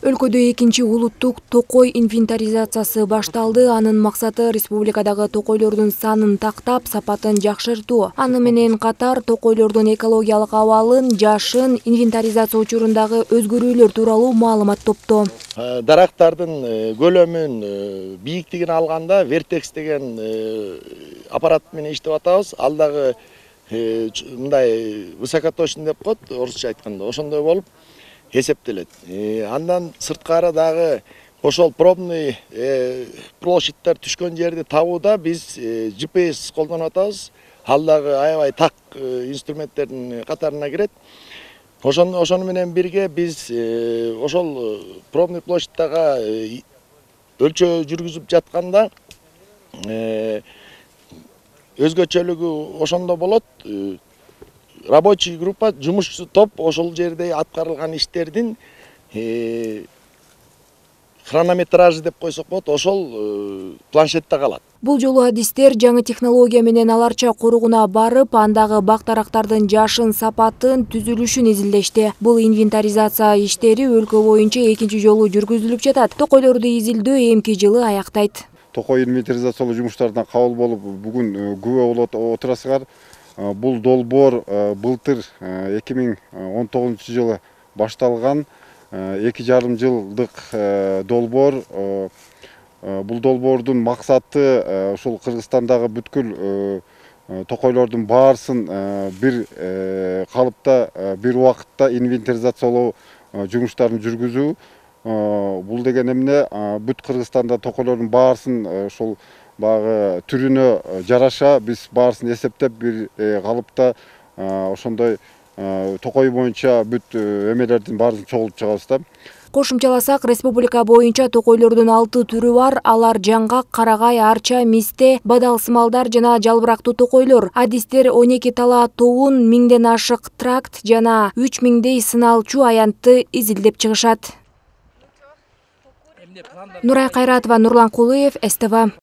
Өлкөдө экинчи улуттук токой инвентаризациясы башталды. Анын максаты республикадагы токойлордун санын тактап, сапатын жакшыртуу. Аны менен катар токойлордун экологиялык абалын, жашын, инвентаризация учурундагы өзгөрүүлөр тууралуу маалымат топтоо. Дарактардын көлөмүн, бийиктигин алганда Vertex деген аппарат менен иштеп атабыз. Ал дагы мындай высокоточный деп коет, орусча айтканда, ошондой болуп эсептелет. Андан сырткары дагы ошол пробный площадьтер түшкөн жерди табууда биз GPS колдонуп атабыз. Ал дагы аябай так инструменттердин катарына кирет. Ошону менен бирге биз ошол пробный площадьтага өлчөө жүргүзүп жатканда өзгөчөлүгү ошондо болот. Рабочий группа, жумушчу топ ошол жерде аткарылган иштердин хронометражы деп койсок болот, ошол планшетте калат. Бул жолу адистер жаңы технология менен аларча кургуна барып, андагы бак-дарактардын жашын, сапатын, түзүлүшүн изилдешти. Бул инвентаризация иштери өлкө боюнча экинчи жолу жүргүзүлүп жатат. Токойлорду изилдөө эмки жылы аяктайт. Токой инвентаризациялоо жумуштарына кабыл болуп, бүгүн күбө болуп отурасыңар. Бул долбоор былтыр 2019 жылы башталган 2,5 жылдык долбоор. Бул долбоордун максаты ушул Кыргызстандагы бүткүл токойлордун баарысын бир калыпта, бир убакытта инвентаризациялоо жумуштарын жүргүзүү. Бул деген эмне? Бүт Кыргызстанда токойлордун баарысын ошол баягы түрүнө жараша биз баарысын эсептеп бир калыпта ошондой токой боюнча бүт эмелердин баарын чогултуп чыгабыз да. Кошумчаласак, республика боюнча токойлордун 6 түрү бар. Алар жаңгак, карагай, арча, мисте, бадалсымалдар жана жалбырактуу токойлор. Адистер 12 талаа тоон, 1000ден ашык тракт жана 3000дей сыналчу аянтты изилдеп чыгышат. Нурай Кайратова, Нурлан Кулуев, СТВ.